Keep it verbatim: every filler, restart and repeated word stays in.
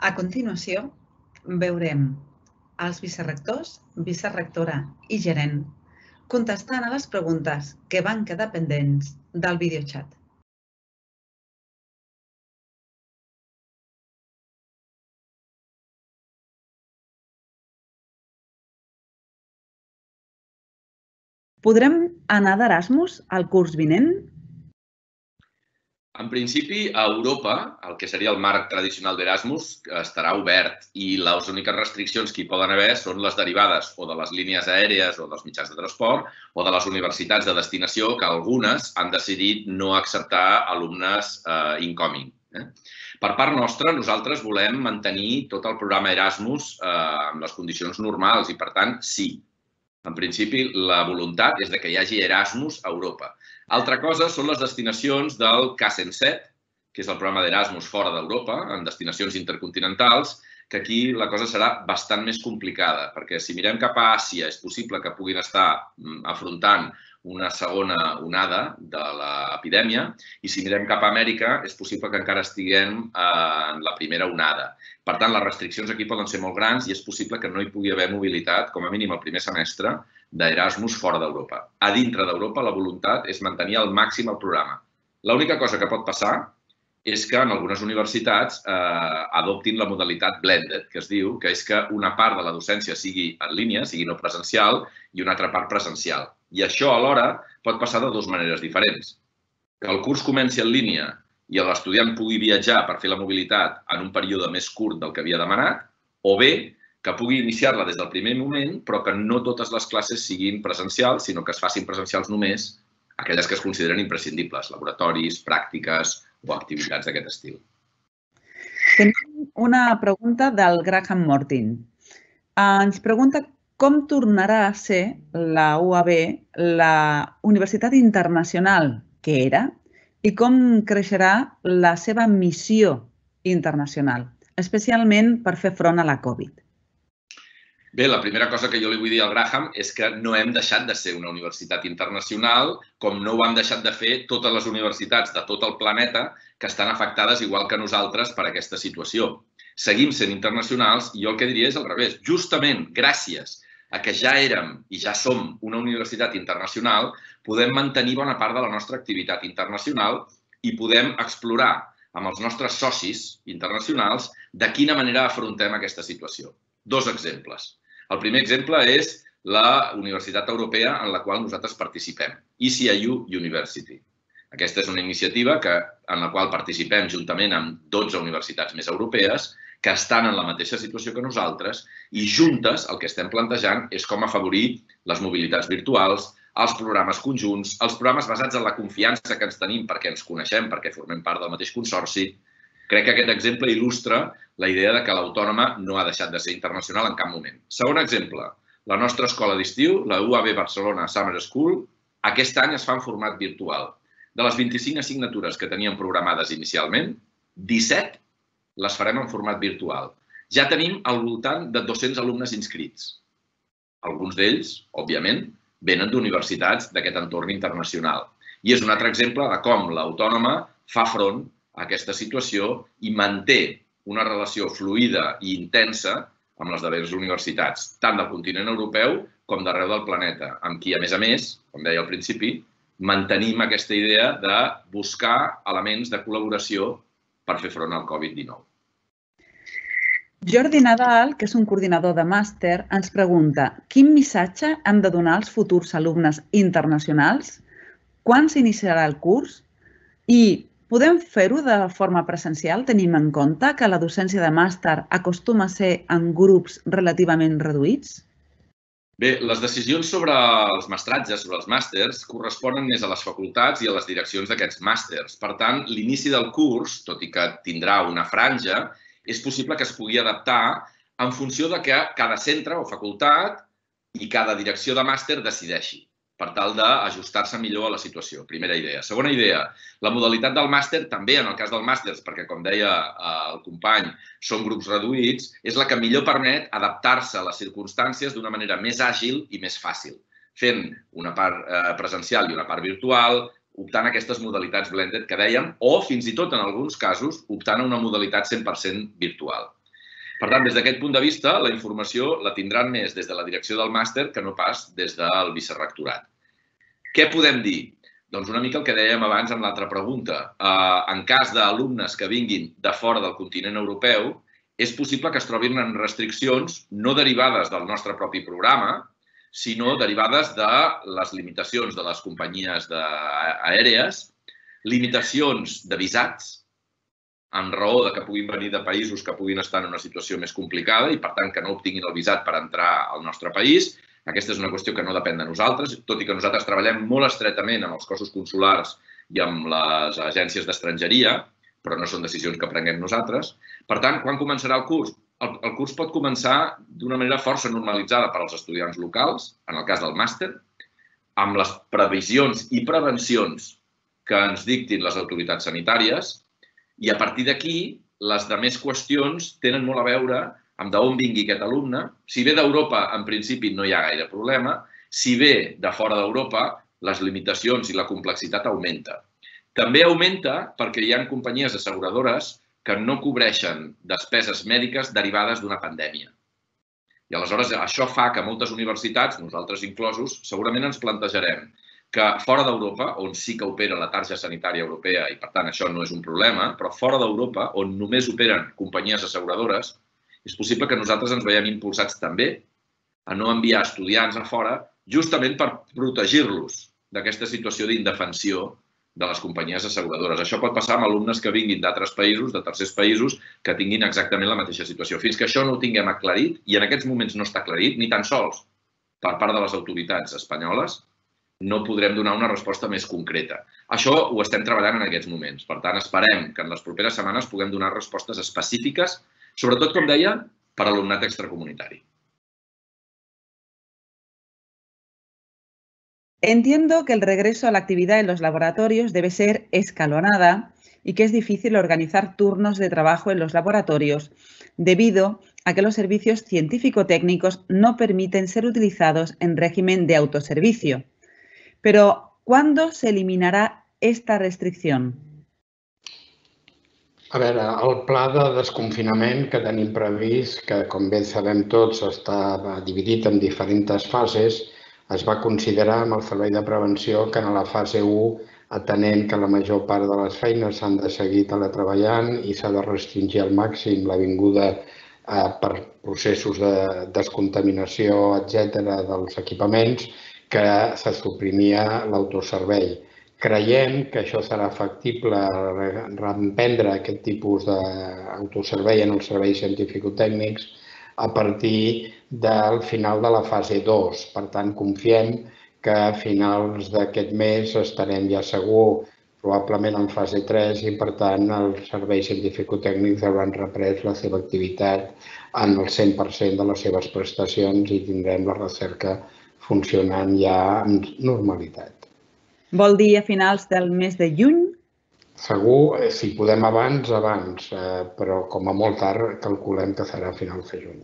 A continuació, veurem els vicerectors, vicerectora i gerent contestant a les preguntes que van quedar pendents del videoxat. Podrem anar d'Erasmus al curs vinent? En principi, a Europa, el que seria el marc tradicional d'Erasmus, estarà obert i les úniques restriccions que hi poden haver són les derivades o de les línies aèries o dels mitjans de transport o de les universitats de destinació, que algunes han decidit no acceptar alumnes incoming. Per part nostra, nosaltres volem mantenir tot el programa Erasmus amb les condicions normals i, per tant, sí. En principi, la voluntat és que hi hagi Erasmus a Europa. Altra cosa són les destinacions del K cent set, que és el programa d'Erasmus fora d'Europa, en destinacions intercontinentals, que aquí la cosa serà bastant més complicada, perquè si mirem cap a Àsia és possible que puguin estar afrontant una segona onada de l'epidèmia i si mirem cap a Amèrica és possible que encara estiguem en la primera onada. Per tant, les restriccions aquí poden ser molt grans i és possible que no hi pugui haver mobilitat, com a mínim el primer semestre, d'Erasmus fora d'Europa. A dintre d'Europa la voluntat és mantenir al màxim el programa. L'única cosa que pot passar és que en algunes universitats adoptin la modalitat blended, que es diu que és que una part de la docència sigui en línia, sigui no presencial, i una altra part presencial. I això alhora pot passar de dues maneres diferents. Que el curs comenci en línia i l'estudiant pugui viatjar per fer la mobilitat en un període més curt del que havia demanat, o bé que pugui iniciar-la des del primer moment, però que no totes les classes siguin presencials, sinó que es facin presencials només aquelles que es consideren imprescindibles, laboratoris, pràctiques o activitats d'aquest estil. Tenim una pregunta del Graham Mortin. Ens pregunta com tornarà a ser la U A B la universitat internacional que era i com creixerà la seva missió internacional, especialment per fer front a la Covid. Bé, la primera cosa que jo li vull dir al Graham és que no hem deixat de ser una universitat internacional, com no ho han deixat de fer totes les universitats de tot el planeta que estan afectades igual que nosaltres per aquesta situació. Seguim sent internacionals i jo el que diria és al revés. Justament gràcies a que ja érem i ja som una universitat internacional, podem mantenir bona part de la nostra activitat internacional i podem explorar amb els nostres socis internacionals de quina manera afrontem aquesta situació. Dos exemples. El primer exemple és la Universitat Europea en la qual nosaltres participem, E C I U University. Aquesta és una iniciativa en la qual participem juntament amb dotze universitats més europees que estan en la mateixa situació que nosaltres i juntes el que estem plantejant és com afavorir les mobilitats virtuals, els programes conjunts, els programes basats en la confiança que ens tenim perquè ens coneixem, perquè formem part del mateix consorci. Crec que aquest exemple il·lustra la idea que l'Autònoma no ha deixat de ser internacional en cap moment. Segon exemple, la nostra escola d'estiu, la U A B Barcelona Summer School, aquest any es fa en format virtual. De les vint-i-cinc assignatures que teníem programades inicialment, disset les farem en format virtual. Ja tenim al voltant de dos-cents alumnes inscrits. Alguns d'ells, òbviament, venen d'universitats d'aquest entorn internacional. I és un altre exemple de com l'Autònoma fa front a aquesta situació i manté una relació fluida i intensa amb les darreres universitats, tant del continent europeu com d'arreu del planeta, amb qui, a més a més, com deia al principi, mantenim aquesta idea de buscar elements de col·laboració per fer front al Covid dinou. Jordi Nadal, que és un coordinador de màster, ens pregunta quin missatge hem de donar als futurs alumnes internacionals, quan s'iniciarà el curs i podem fer-ho de forma presencial, tenim en compte que la docència de màster acostuma a ser en grups relativament reduïts? Bé, les decisions sobre els mestratges, sobre els màsters, corresponen més a les facultats i a les direccions d'aquests màsters. Per tant, l'inici del curs, tot i que tindrà una franja, és possible que es pugui adaptar en funció de que cada centre o facultat i cada direcció de màster decideixi, per tal d'ajustar-se millor a la situació. Primera idea. Segona idea, la modalitat del màster, també en el cas del màster, perquè, com deia el company, són grups reduïts, és la que millor permet adaptar-se a les circumstàncies d'una manera més àgil i més fàcil, fent una part presencial i una part virtual, optant a aquestes modalitats blended que dèiem, o fins i tot, en alguns casos, optant a una modalitat cent per cent virtual. Per tant, des d'aquest punt de vista, la informació la tindran més des de la direcció del màster que no pas des del vicerrectorat. Què podem dir? Doncs una mica el que dèiem abans en l'altra pregunta. En cas d'alumnes que vinguin de fora del continent europeu, és possible que es trobin en restriccions no derivades del nostre propi programa, sinó derivades de les limitacions de les companyies aèries, limitacions de visats, en raó de que puguin venir de països que puguin estar en una situació més complicada i, per tant, que no obtinguin el visat per entrar al nostre país. Aquesta és una qüestió que no depèn de nosaltres, tot i que nosaltres treballem molt estretament amb els cossos consulars i amb les agències d'estrangeria, però no són decisions que prenguem nosaltres. Per tant, quan començarà el curs? El curs pot començar d'una manera força normalitzada per als estudiants locals, en el cas del màster, amb les previsions i prevencions que ens dictin les autoritats sanitàries, i a partir d'aquí, les altres qüestions tenen molt a veure amb d'on vingui aquest alumne. Si ve d'Europa, en principi, no hi ha gaire problema. Si ve de fora d'Europa, les limitacions i la complexitat augmenta. També augmenta perquè hi ha companyies asseguradores que no cobreixen despeses mèdiques derivades d'una pandèmia. I aleshores això fa que moltes universitats, nosaltres inclosos, segurament ens plantejarem que fora d'Europa, on sí que opera la targeta sanitària europea i, per tant, això no és un problema, però fora d'Europa, on només operen companyies asseguradores, és possible que nosaltres ens veiem impulsats també a no enviar estudiants a fora justament per protegir-los d'aquesta situació d'indefensió de les companyies asseguradores. Això pot passar amb alumnes que vinguin d'altres països, de tercers països, que tinguin exactament la mateixa situació. Fins que això no ho tinguem aclarit, i en aquests moments no està aclarit, ni tan sols per part de les autoritats espanyoles, no podrem donar una resposta més concreta. Això ho estem treballant en aquests moments. Per tant, esperem que en les properes setmanes puguem donar respostes específiques, sobretot, com deia, per a l'alumnat extracomunitari. Entiendo que el regreso a la actividad en los laboratorios debe ser escalonada y que es difícil organizar turnos de trabajo en los laboratorios debido a que los servicios científico-técnicos no permiten ser utilizados en régimen de autoservicio. Pero, ¿cuándo se eliminarà esta restricció? A veure, el pla de desconfinament que tenim previst, que com bé sabem tots està dividit en diferents fases, es va considerar amb el servei de prevenció que en la fase u, atenent que la major part de les feines s'han de seguir teletreballant i s'ha de restringir al màxim la vinguda per processos de descontaminació, etcètera, dels equipaments, que se suprimia l'autoservei. Creiem que això serà factible reemprendre aquest tipus d'autoservei en els serveis científico-tècnics a partir del final de la fase dos. Per tant, confiem que a finals d'aquest mes estarem ja segur, probablement en fase tres, i per tant els serveis científico-tècnics hauran reprès la seva activitat en el cent per cent de les seves prestacions i tindrem la recerca funcionant ja amb normalitat. Vol dir a finals del mes de juny? Segur, si podem abans, abans, però com a molt tard calculem que serà a finals de juny.